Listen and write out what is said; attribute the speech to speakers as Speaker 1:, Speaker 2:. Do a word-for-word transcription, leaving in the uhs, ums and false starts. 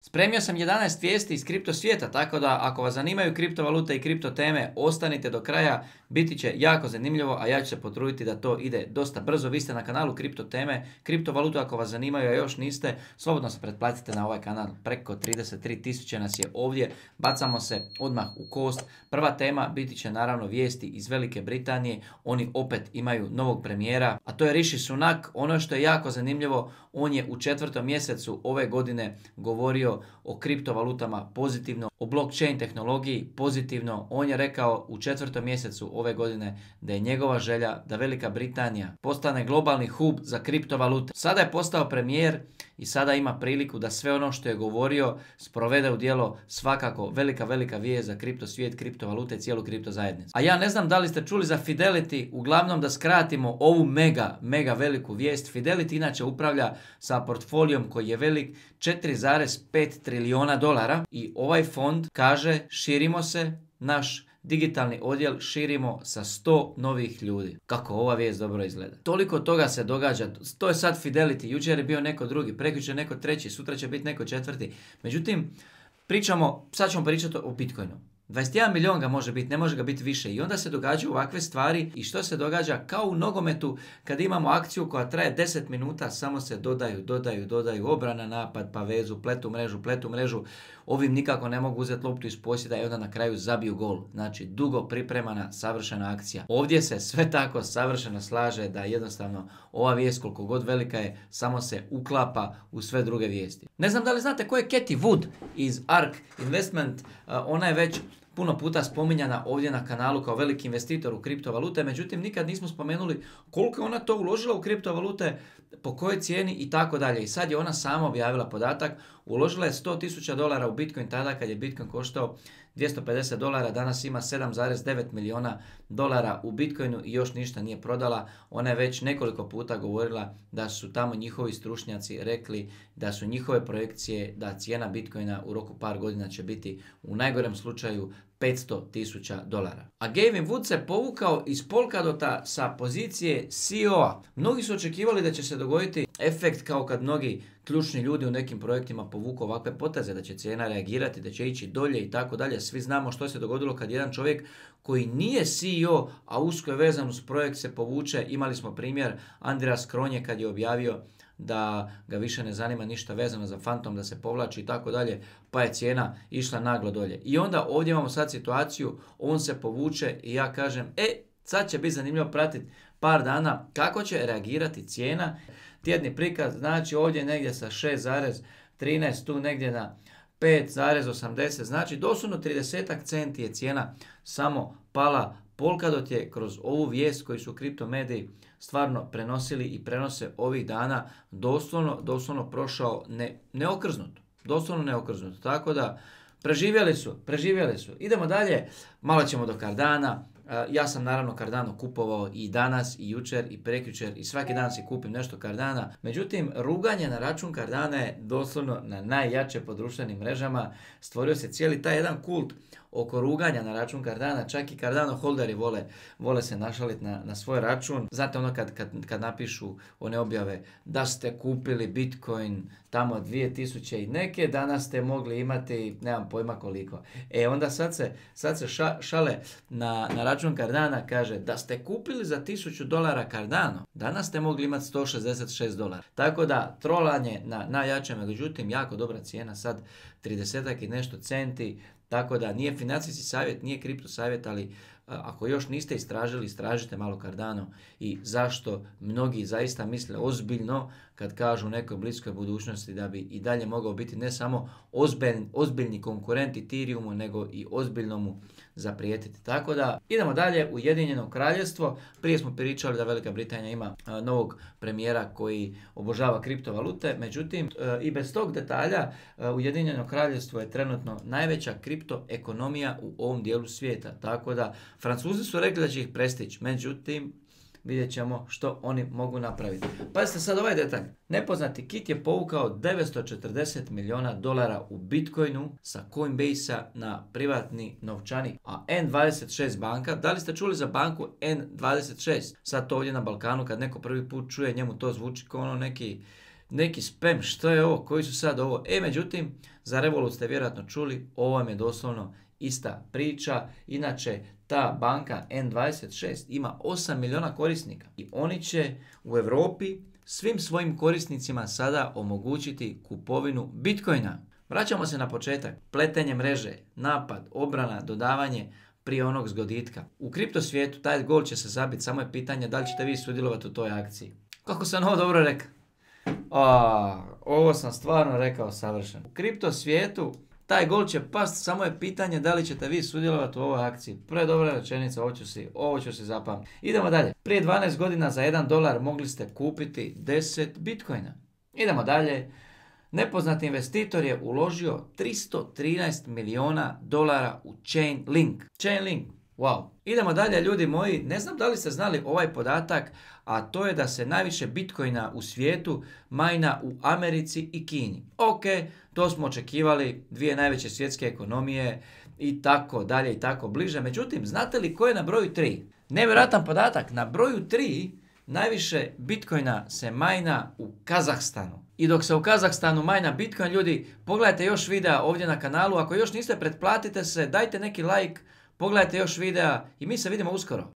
Speaker 1: Spremio sam jedanaest vijesti iz kripto svijeta, tako da ako vas zanimaju kriptovalute i kripto teme, ostanite do kraja, biti će jako zanimljivo, a ja ću se potruditi da to ide dosta brzo. Vi ste na kanalu kripto teme, kriptovalutu ako vas zanimaju, a još niste, slobodno se pretplatite na ovaj kanal, preko trideset tri tisuće nas je ovdje, bacamo se odmah u kost. Prva tema biti će naravno vijesti iz Velike Britanije, oni opet imaju novog premijera, a to je Rishi Sunak. Ono što je jako zanimljivo, on je u četvrtom mjesecu ove godine govorio o kriptovalutama pozitivno, o blockchain tehnologiji pozitivno. On je rekao u četvrtom mjesecu ove godine da je njegova želja da Velika Britanija postane globalni hub za kriptovalute. Sada je postao premijer i sada ima priliku da sve ono što je govorio sprovede u djelo. Svakako velika, velika vijest za kripto svijet, kriptovalute i cijelu kripto zajednicu. A ja ne znam da li ste čuli za Fidelity, uglavnom da skratimo ovu mega, mega veliku vijest. Fidelity inače upravlja sa portfolijom koji je velik četiri zarez pet trilijuna dolara i ovaj fond kaže širimo se, naš digitalni odjel širimo sa sto novih ljudi. Kako ova vijest dobro izgleda. Toliko toga se događa. To je sad Fidelity. Jučer je bio neko drugi, prekjučer neko treći, sutra će biti neko četvrti. Međutim, pričamo, sad ćemo pričati o Bitcoinu. dvadeset jedan milijun ga može biti, ne može ga biti više. I onda se događaju ovakve stvari. I što se događa? Kao u nogometu kad imamo akciju koja traje deset minuta, samo se dodaju, dodaju, dodaju, obrana, napad, pa vezu, pletu mrežu, pletu mrežu. Ovim nikako ne mogu uzeti loptu iz posjeda i onda na kraju zabiju gol. Znači, dugo pripremana, savršena akcija. Ovdje se sve tako savršeno slaže da jednostavno ova vijest, koliko god velika je, samo se uklapa u sve druge vijesti. Ne znam da li znate ko je Cathie Wood iz ARK Investment. Ona je već puno puta spominjana ovdje na kanalu kao veliki investitor u kriptovalute, međutim nikad nismo spomenuli koliko je ona to uložila u kriptovalute, po kojoj cijeni i tako dalje. I sad je ona sama objavila podatak, uložila je sto tisuća dolara u Bitcoin tada kad je Bitcoin koštao dvjesto pedeset dolara, danas ima sedam zarez devet milijuna dolara u Bitcoinu i još ništa nije prodala. Ona je već nekoliko puta govorila da su tamo njihovi stručnjaci rekli da su njihove projekcije da cijena Bitcoina u roku par godina će biti u najgorem slučaju petsto tisuća dolara. A Gavin Wood se povukao iz Polkadota sa pozicije C E O-a. Mnogi su očekivali da će se dogoditi efekt kao kad mnogi ključni ljudi u nekim projektima povuku ovakve poteze, da će cijena reagirati, da će ići dolje i tako dalje. Svi znamo što se dogodilo kad jedan čovjek koji nije C E O, a usko je vezan uz projekt se povuče. Imali smo primjer Andreas Kronje kad je objavio da ga više ne zanima ništa vezano za Fantom, da se povlači i tako dalje, pa je cijena išla naglo dolje. I onda ovdje imamo sad situaciju, on se povuče i ja kažem, e, sad će biti zanimljivo pratiti par dana kako će reagirati cijena. Tjedni prikaz, znači ovdje negdje sa šest zarez trinaest, tu negdje na pet zarez osamdeset, znači doslovno trideset centi je cijena samo pala. Polkadot je kroz ovu vijest koju su kripto mediji stvarno prenosili i prenose ovih dana doslovno, doslovno prošao ne, neokrznut. Doslovno neokrznut. Tako da preživjeli su, preživjeli su. Idemo dalje, malo ćemo do Cardana. Ja sam naravno Cardano kupovao i danas, i jučer, i prekjučer, i svaki dan si kupim nešto Cardana. Međutim, ruganje na račun Cardana je doslovno na najjače po društvenim mrežama. Stvorio se cijeli taj jedan kult oko ruganja na račun Cardana. Čak i Cardano holderi vole, vole se našaliti na, na svoj račun. Znate ono kad, kad, kad napišu one objave da ste kupili Bitcoin tamo dvije tisuće i neke, danas ste mogli imati, nemam pojma koliko. E onda sad se, sad se ša, šale na, na račun Cardana, kaže da ste kupili za tisuću dolara Cardano, danas ste mogli imati sto šezdeset šest dolara. Tako da trolanje na najjačem, međutim jako dobra cijena, sad trideset i nešto centi. Tako da nije financijski savjet, nije kripto savjet, ali ako još niste istražili, istražite malo Cardano i zašto mnogi zaista misle ozbiljno kad kažu u nekoj bliskoj budućnosti da bi i dalje mogao biti ne samo ozbiljni, ozbiljni konkurent Ethereumu, nego i ozbiljno mu zaprijetiti. Tako da idemo dalje, Ujedinjeno kraljevstvo. Prije smo pričali da Velika Britanija ima a, novog premijera koji obožava kriptovalute, međutim a, i bez tog detalja a, Ujedinjeno kraljevstvo je trenutno najveća kripto ekonomija u ovom dijelu svijeta. Tako da Francuzi su rekli da će ih prestići, međutim vidjet ćemo što oni mogu napraviti. Pazite sad ovaj detalj. Nepoznati Kit je povukao devetsto četrdeset milijuna dolara u Bitcoinu sa Coinbase-a na privatni novčanik. A N dvadeset šest banka, da li ste čuli za banku N dvadeset šest? Sad to ovdje na Balkanu kad neko prvi put čuje, njemu to zvuči kao ono neki neki spam, što je ovo, koji su sad ovo. E, međutim, za Revolut ste vjerojatno čuli, ovo vam je doslovno ista priča. Inače, ta banka N dvadeset šest ima osam milijuna korisnika i oni će u Europi svim svojim korisnicima sada omogućiti kupovinu Bitcoina. Vraćamo se na početak. Pletenje mreže, napad, obrana, dodavanje prije onog zgoditka. U kripto svijetu taj gol će se zabiti, samo je pitanje da li ćete vi sudjelovati u toj akciji. Kako sam ovo dobro rekao? A, ovo sam stvarno rekao savršeno. U kripto svijetu taj gol će past, samo je pitanje da li ćete vi sudjelovati u ovoj akciji. Pre dobra rečenica, ovo ću si, ovo ću si zapamtiti. Idemo dalje. Prije dvanaest godina za jedan dolar mogli ste kupiti deset bitcoina. Idemo dalje. Nepoznati investitor je uložio tristo trinaest milijuna dolara u Chainlink. Chainlink. Wow. Idemo dalje, ljudi moji. Ne znam da li ste znali ovaj podatak, a to je da se najviše bitcoina u svijetu majna u Americi i Kini. Ok, to smo očekivali, dvije najveće svjetske ekonomije i tako dalje i tako bliže. Međutim, znate li ko je na broju tri? Nevjerojatan podatak, na broju tri najviše bitcoina se majna u Kazahstanu. I dok se u Kazahstanu majna bitcoin, ljudi, pogledajte još videa ovdje na kanalu. Ako još niste, pretplatite se, dajte neki like, pogledajte još videa i mi se vidimo uskoro.